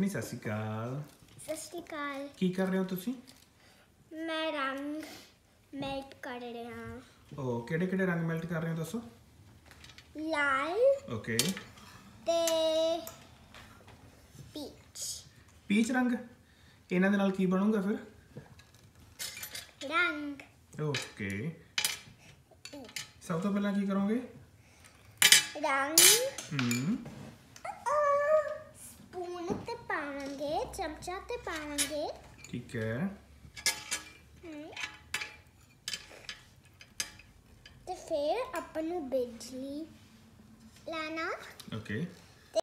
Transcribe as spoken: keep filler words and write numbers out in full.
ਸੁਖਨੀ ਸਤਿ ਸ਼੍ਰੀ ਅਕਾਲ। ਸਤਿ ਸ਼੍ਰੀ ਅਕਾਲ। ਕੀ ਕਰ ਰਹੇ ਹੋ ਤੁਸੀਂ? ਮੈਂ ਰੰਗ ਮੈਲਟ ਕਰ ਰਿਹਾ। ਉਹ ਕਿਹੜੇ ਕਿਹੜੇ ਰੰਗ ਮੈਲਟ ਕਰ ਰਹੇ ਹੋ ਦੱਸੋ? ਲਾਲ ਓਕੇ ਤੇ ਪੀਚ। ਪੀਚ ਰੰਗ, ਇਹਨਾਂ ਦੇ ਨਾਲ ਕੀ ਬਣੂਗਾ ਫਿਰ? ਰੰਗ। ਓਕੇ, ਸਭ ਤੋਂ ਪਹਿਲਾਂ ਕੀ ਕਰੋਗੇ? ਰੰਗ ਹਮ ਸਪੂਨ ਤੇ ਪਾਵਾਂਗੇ, ਚਮਚਾ ਤੇ ਪਾਵਾਂਗੇ। ਠੀਕ ਹੈ। ਤੇ ਫਿਰ ਆਪਾਂ ਨੂੰ ਬਿਜਲੀ ਲੈਣਾ। ਓਕੇ